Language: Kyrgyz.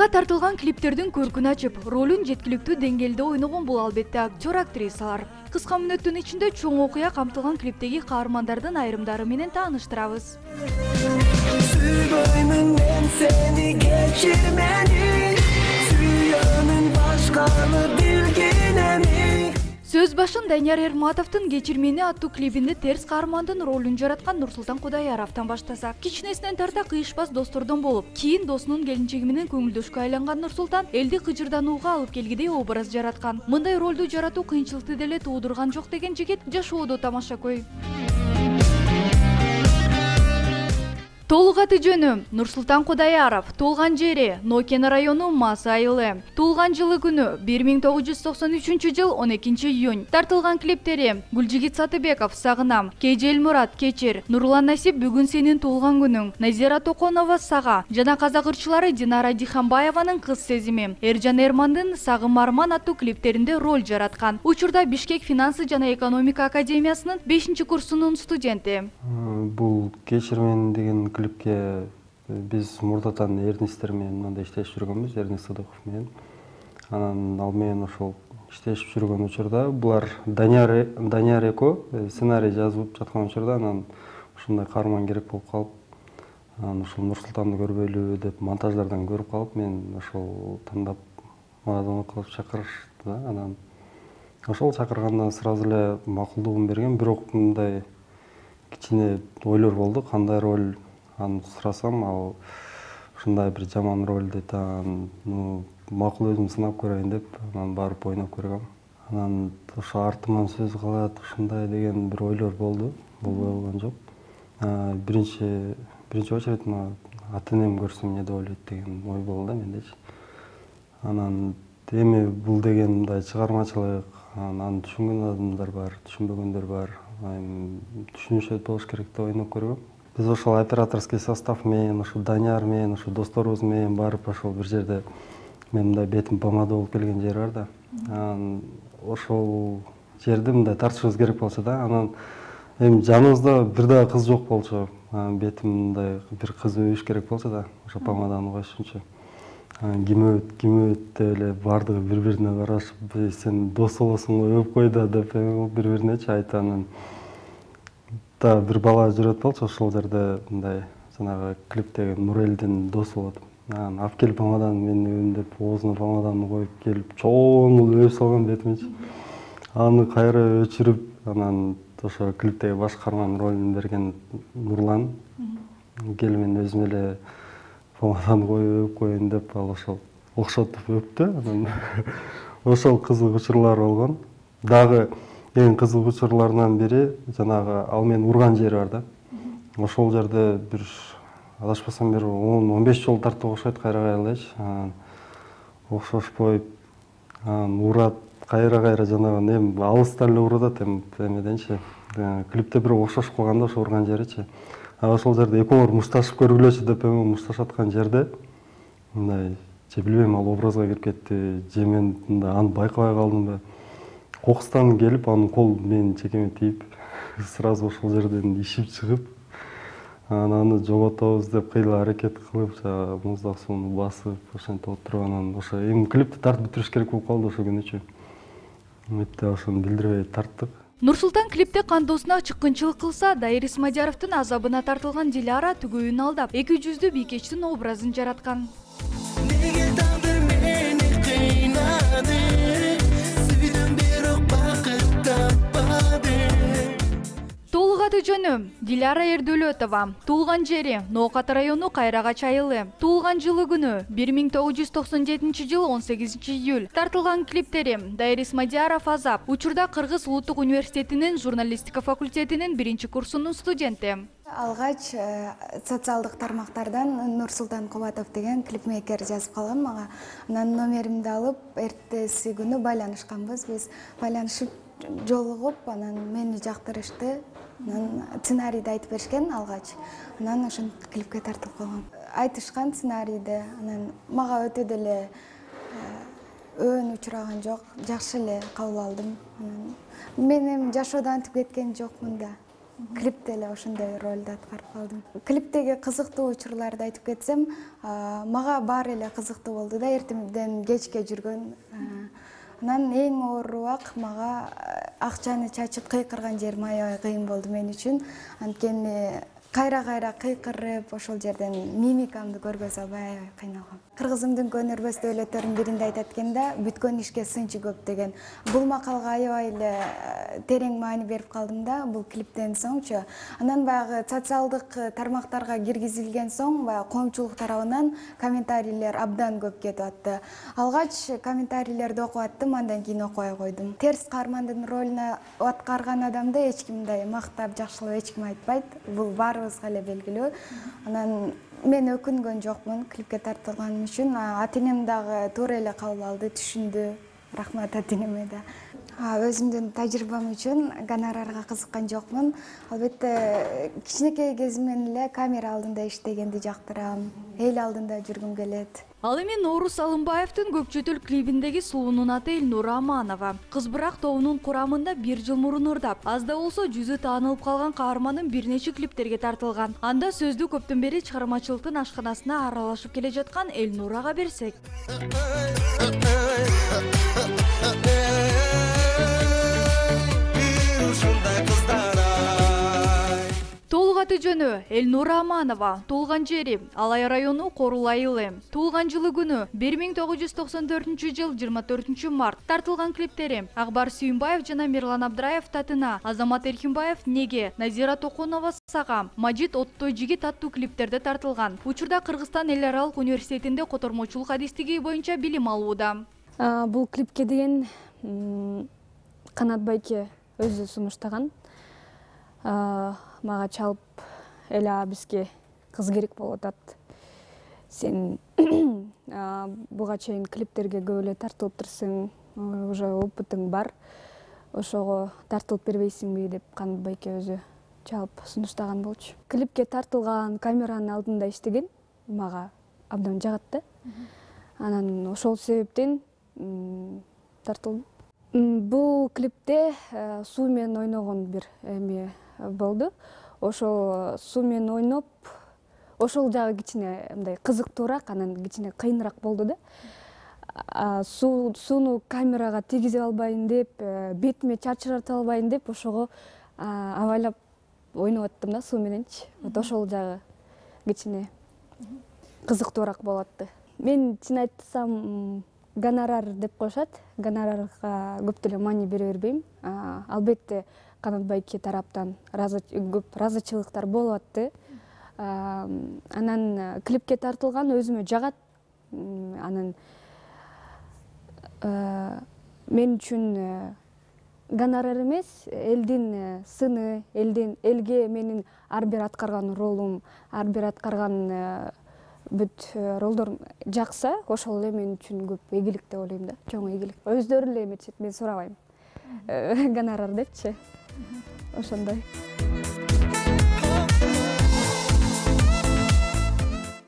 Айга тартылган клиптердин көркүн ачып, ролун жеткиликтүү деңгээлде ойногон бул албетте актер-актрисалар. Кыска мүнөттүн ичинде чоң окуя камтылган клиптеги каармандардын айрымдары менен тааныштырабыз. Suyboymun men seni geçirmeni, suyamın başkanı bilginemi. Сөз башын Данияр Эрматовдун «Кечирмени» аттуу клибинде терс каармандын ролун жараткан Нурсултан Кудаяровдон баштасак, кичинесинен тарта кыйышпас достордон болуп, кийин досунун келинчеги менен көңүлдөшкө айланган Нурсултан элди кыжырданууга алып келгидей образ жараткан. Мындай ролду жаратуу кыйынчылыкты деле туудурган жок деген жигит жашоодо тамашакөй. Толук аты жөнү Нурсултан Кудаяров, туулган жери Нокен району Мас айылы. Туулган жылы күнү 1993-жыл 12-июнь. Тартылган клиптери Гүлжигит Сатыбеков Сагынам, Кежел Мурат Кечир, Нурлан Насип Бүгүн сенин туулган күнүң, Назира Токонова Сага жана казак ырчылары Динара Диханбаеванын Кыз сезими, Эржан Эрмандын Сагым Арман аттуу клиптеринде роль жараткан. Учурда Бишкек финансы жана экономика академиясынын 5-курсунун студенти. Бул «Кечирмени» деген клипке биз мурдатан Эрнистер менен мындай иштешип жүргөнбүз, Эрнист Садыков менен. Анан ал менен ошол иштешип жүргөн учурда булар Данияр эко сценарий жазып жаткан учурда анан ушундай каарман керек болуп калып, анан ушул Нурсултанды көрбөйлүбү деп монтаждардан көрүп калып, мен ошол тандап мага звонок кылып чакырышты да. Анан ошол чакыргандан сразу эле макулдугун берген, бирок мындай кичине ойлор болду, кандай роль аны сурасам, ал ушундай бир жаман роль дейт. Макул өзүм сынап көрөйүн деп, анан барып ойноп көргөм. Анан ошо артыман сөз калат, ушундай деген бир ойлор болду, болбой болгон жок. Биринчи очередь мага ата-энем көрсө эмне деп ойлойт деген ой болду да мендечи. Анан эми бул деген мындай чыгармачылык, аны түшүнгөн адамдар бар, түшүнбөгөндөр бар. Түшүнүшөт болуш керек деп ойноп көргөм. Биз ошол операторский состав менен, ошо Данияр менен, ошо досторубуз менен барып ошол бир жерде мен мындай бетим помада болуп келген жери бар да. Анан ошол жерди мындай тартышыбыз керек болчу да. Анан эми жаныбызда бир дагы кыз жок болчу. Бетим мындай бир кыз өбүш керек болчу да, ошо помаданы коюшунчу. Ким өбөт деп эле бардыгы бири-бирине карашып, сен дос болосуң го өбүп кой да деп бири-биринечи айтты. Анан да бир бала жүрөт болчу ошол жерде, мындай жанагы клиптеги Нурелдин досу болот. Анан алып келип помаданы мен өбүм деп оозуна помаданы коюп келип чоң өбүп салган бетимечи. Аны кайра өчүрүп, анан ошо клиптеги баш каарман ролун берген Нурлан кел мен өзүм эле помаданы коюп өбүп коеюн деп, ал ошол окшотуп өптү. Анан ошол кызык учурлар болгон. Дагы эң кызык учурларынан бири жанагы ал менин урган жери бар да. Ошол жерде бир адашпасам бир 10-15 жолу тартып окшойт кайра-кайралайчы. Окшошпойт. Урат кайра-кайра жанагы эми алыстан эле урдат эмеденчи. Клипте бирок окшошуп калганда ошо урган жеричи. Ошол жерде экөөңөр мушташып көргүлөчү деп мушташаткан жерде мындай же билбейм, ал образга кирип кетти, же мен мындай аны байкабай калдымбы. Кокустан келип, анын кол менин чекеме тиип, сразу ошол жерден ишип чыгып, аны жоготобуз деп кыйла аракет кылып, муздак сууну басып, ошентип отуруп, анан ошо эми клипти тартып бүтүрүш керек болуп калды ошол күнүчү. Мынтип ошону билдирбей тарттык. Нурсултан клипте кандоосуна чыккынчылык кылса, Дайыр Исмадияровдун азабына тартылган Диляра түгөйүн алдап, эки жүздүү бийкечтин образын жараткан. Толук аты жөнү Диляра Эрдөлөтова, туулган жери Ноокат району Кайрагач айылы. Туулган жылы күнү 1997-жыл 18-июль. Тартылган клиптери Дайыр Исмадияров Азап, учурда Кыргыз Улуттук университетинин журналистика факультетинин 1-курсунун студенти. Алгач социалдык тармактардан Нурсултан Кубатов деген клипмейкер жазып калган мага. Анан номеримди алып, эртеси күнү байланышканбыз. Биз байланышып жолугуп, анан мени жактырышты. Анан сценарийди айтып беришкен алгач. Анан ошон клипке тартылып калгам. Айтышкан сценарийди. Анан мага өтө деле өөн учураган жок. Жакшы эле кабыл алдым. Мен эми жашоодо антип кеткен жокмун да. клипте эле ошондой ролду аткарып калдым. Клиптеги кызыктуу учурларды айтып кетсем, мага баары эле кызыктуу болду да, эртемден кечке жүргөн. Анан эң ооруак мага акчаны чачып кыйкырган жерим аябай кыйын болду мен үчүн. Анткени кайра кыйкырып ошол жерден мимикамды көргөзө албай аябай кыйналгам. Кыргызымдын көнөрбөс дөөлөттөрүнүн биринде айтат экенде, бүткөн ишке сынчы көп деген. Бул макалга аябай эле терең маани берип калдым да, бул клиптен соңчу. Анан баягы социалдык тармактарга киргизилген соң, баягы коомчулук тарабынан комментарийлер абдан көп кетип атты. Алгач комментарийлерди окуп аттым, андан кийин окубай койдум. Терс каармандын ролуна аткарган адамды эч ким мындай мактап, жакшылап эч ким айтпайт. Бул баарыбызга эле белгилүү. Анан мен өкүнгөн жокмун клипке тартылганым үчүн. Ата-энем дагы туура эле кабыл алды, түшүндү. Рахмат ата-энеме да. Өзүмдүн тажрыйбам үчүн гонорарга кызыккан жокмун. Албетте кичинекей кезимден эле камера алдында иштегенди жактырам. Эл алдында жүргүм келет. Ал эми Ноорус Алымбаевдин көкчөтүл клибиндеги сулуунун аты Элнура Аманова. Кыз бирок тобунун курамында 1 жыл мурун ырдап, аз да болсо жүзү таанылып калган каармандын бир нече клиптерге тартылган. Анда сөздү көптөн бери чыгармачылыктын ашканасына аралашып келе жаткан Элнурага берсек. Толук аты жөнү Элнура Аманова, туулган жери Алай району Корул айылы. Туулган жылы күнү 1994 жыл 24 март. Тартылган клиптери Акбар Сүйүнбаев жана Мирлан Абдраев татына, Азамат Эркинбаев Неге, Назира Токонова Сага, Мажит Оттой жигит аттуу клиптерде тартылган. Учурда Кыргызстан эл аралык университетинде котормочулук адистиги боюнча билим алууда. Бул клипке деген Канат байке өзү сунуштаган. Мага чалып эля бизге кыз керек болуп атат. Сен буга чейин клиптерге көп эле тартылыптырсың, уже опытың бар. Ошого тартылып бербейсиңби деп Канат байке өзү чалып сунуштаган болчу. Клипке тартылган камеранын алдында иштеген мага абдан жагат да. Анан ошол себептен тартылдым. Бул клипте суу менен ойногон бир эме болду. Ошол суу менен ойноп, ошол жагы кичине мындай кызыктуураак, анан кичине кыйыныраак болду да. Сууну камерага тийгизе албайын деп, бетиме чачырата албайын деп, ошого абайлап ойноп аттым да суу мененчи. Вот ошол жагы кичине кызыктуураак болуп атты. Мен чын айтсам гонорар деп коюшат. Гонорарга көп деле маани бере бербейм. Албетте Канат байке тараптан көп ыраазычылыктар болуп атты. Анан клипке тартылган өзүмө жагат. Анан мен үчүн гонорар эмес, элдин сыны, элге менин ар бир аткарган ролум, ар бир аткарган бүт ролдорум жакса, ошол эле мен үчүн көп ийгилик деп ойлойм да, чоң ийгилик. Өздөрү эле эметишет, мен сурабайм. Гонорар депчи. Ошондой.